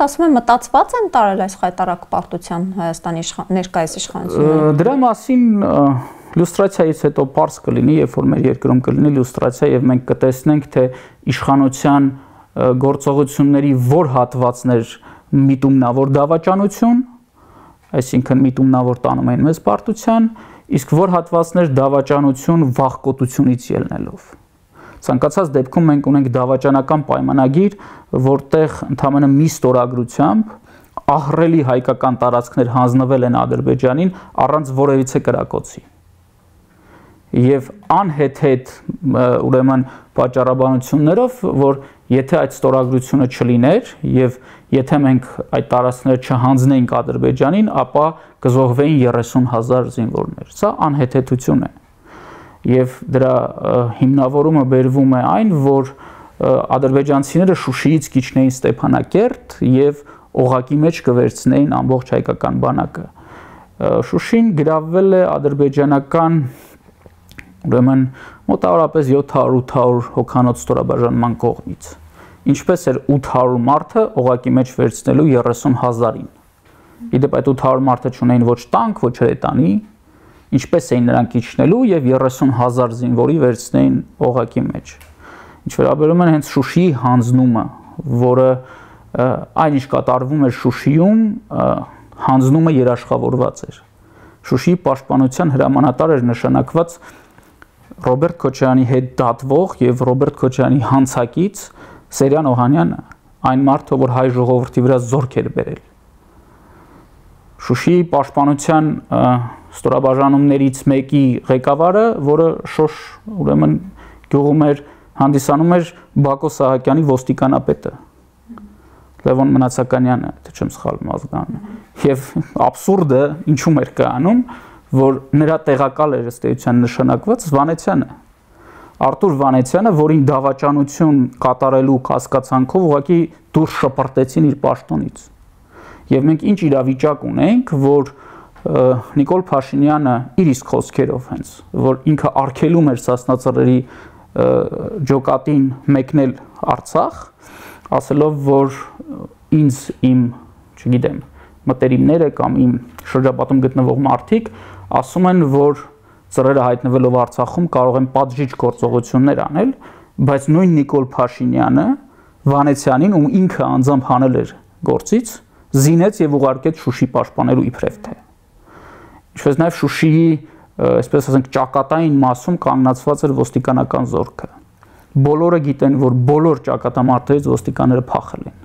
ըստ ասում եմ մտածված են տարել այս խայտառակ պարտությամբ Հայաստանի ներկայիս իշխանությունները։ Դրա մասին լյուստրացիայից հետո պարզ կլինի, երբ որ մեր երկրում կլինի լյուստրացիա եւ մենք կտեսնենք, թե իշխանության գործողությունների որ հատվածներ միտումնավոր դավաճանություն, այսինքն միտումնավոր տանում են մեզ պարտության, իսկ որ հատվածներ դավաճանություն վախկոտությունից ելնելով։ Ցանկացած դեպքում մենք ունենք դավաճանական պայմանագիր, որտեղ ընդհանրապես մի ստորագրությամբ ահռելի հայկական տարածքներ հանձնվել են Ադրբեջանին առանց որևիցե կրակոցի։ Եվ անհեթեթ ուրեմն պատճառաբանություններով, որ եթե այդ ստորագրությունը չլիներ եւ եթե մենք այդ տարածքները չհանձնեինք Ադրբեջանին, ապա կզոհվեին 30,000 զինվորներ։ Սա անհեթեթություն է։ Եվ դրա հիմնավորումը բերվում է այն, որ ադրբեջանցիները Շուշիից կիջնեին Ստեփանակերտ եւ օղակի մեջ կվերցնեին ամբողջ հայկական բանակը։ Շուշին գրավվել է ադրբեջանական ուրեմն մոտավորապես 700-800 հոգանոց ստորաբաժանման կողմից։ Ինչպես էր 800 մարդը օղակի մեջ վերցնելու 30,000-ին։ Իդեպ այդ 800 մարդը չունեին ոչ տանկ, ոչ հրետանի, ինչպես էին նրանք իջնելու եւ 30,000 զինվորի վերցնեին օղակի մեջ։ Ինչ վերաբերում է հենց Շուշիի հանձնումը, որը այնինչ կատարվում էր Շուշիում, հանձնումը երաշխավորված էր։ Շուշիի պաշտպանության հրամանատար էր նշանակված Ռոբերտ Քոչարյանի հետ դատվող եւ Ռոբերտ Քոչարյանի հանցակից Սերյան Օհանյանը, այն մարդը, որ հայ ժողովրդի վրա զորք էր բերել։ Շուշիի պաշտպանության ստորաբաժանումներից մեկի ղեկավարը, որը Շոշ ուրեմն գյուղում էր, հանդիսանում էր Բակո Սահակյանի ոստիկանապետը Լևոն Մնացականյանը, թե չեմ սխալվում ազգանունը։ Եվ աբսուրդը ինչու՞մ էր կայանում, որ նրա տեղակալ էր ըստ էության նշանակված Վանեցյանը։ Արտուր Վանեցյանը, որին դավաճանություն կատարելու կասկածանքով ուղղակի դուրս շպրտեցին իր պաշտոնից։ Եվ մենք ինչ իրավիճակ ունենք, որ Նիկոլ Փաշինյանը իր իսկ խոսքերով հենց, որ ինքը արգելում էր Սասնա-Ծռերի ջոկատին մեկնել Արցախ, ասելով, որ ինձ իմ, չգիտեմ, մտերիմները կամ իմ շրջապատում գտնվող մարդիկ ասում են, որ ծռերը հայտնվելով Արցախում կարող են պատժիչ գործողություններ անել, բայց նույն Նիկոլ Փաշինյանը Վանեցյանին, ում ինքը անձամբ հանել էր գործից, զինեց եւ ուղարկեց Շուշի պաշտպանելու իբրև թե։ Ինչպես նաեւ Շուշիի, այսպես ասենք, ճակատային մասում կանգնացված էր ոստիկանական զորքը։ Բոլորը գիտեն, որ բոլոր ճակատամարտերից ոստիկանները փախել են։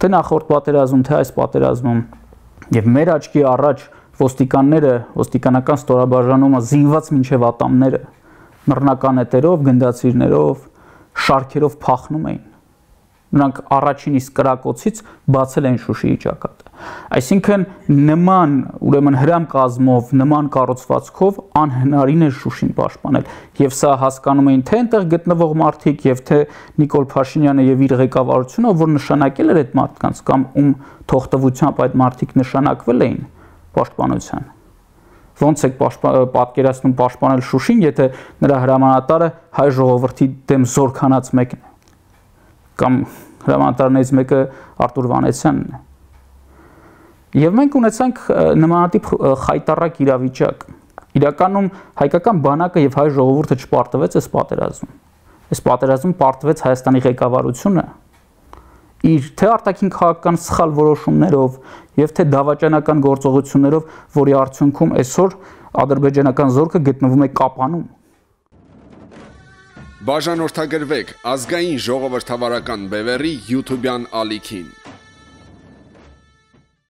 Թե նախորդ պատերազմում, թե այս պատերազմում եւ մեր աչքի առաջ ոստիկանները, ոստիկանական ստորաբաժանումը զինված մինչև ատամները, մռնական էտերով, գնդացիրներով, շարքերով փախնում էին։ Նրանք առաջին իսկ կրակոցից բացել են Շուշիի ճակատը։ Այսինքն նման ուրեմն հրամկազմով, նման կառուցվածքով անհնարին է Շուշին պաշտպանել։ Եվ սա հասկանում էին թե այնտեղ գտնվող մարդիկ, եւ թե Նիկոլ Փաշինյանը եւ իր ղեկավարությունը, որ նշանակել էր այդ մարդկանց կամ ում թողտվությամբ այդ մարդիկ նշանակվել էին պաշտպանության։ Ոնց է պատկերացնում պաշտպանել Շուշին, եթե նրա հրամանատարը հայ ժողովրդի դեմ զորքանած մեկն է, կամ հրամանատարներից մեկը Արտուր Վանեցյանն է։ Եվ մենք ունեցանք նմանատիպ խայտառակ իրավիճակ։ Իրականում հայկական բանակը եւ հայ ժողովուրդը չպարտվեց այս պատերազմում։ Այս պատերազմում պարտվեց Հայաստանի ղեկավարությունը իր թե արտաքին քաղաքական սխալ որոշումներով եւ թե դավաճանական գործողություններով, որի արդյունքում այսօր ադրբեջանական զորքը գտնվում է Կապանում։ Բաժանորդագրվեք ազգային ժողովրդավարական բևեռի YouTube-յան ալիքին։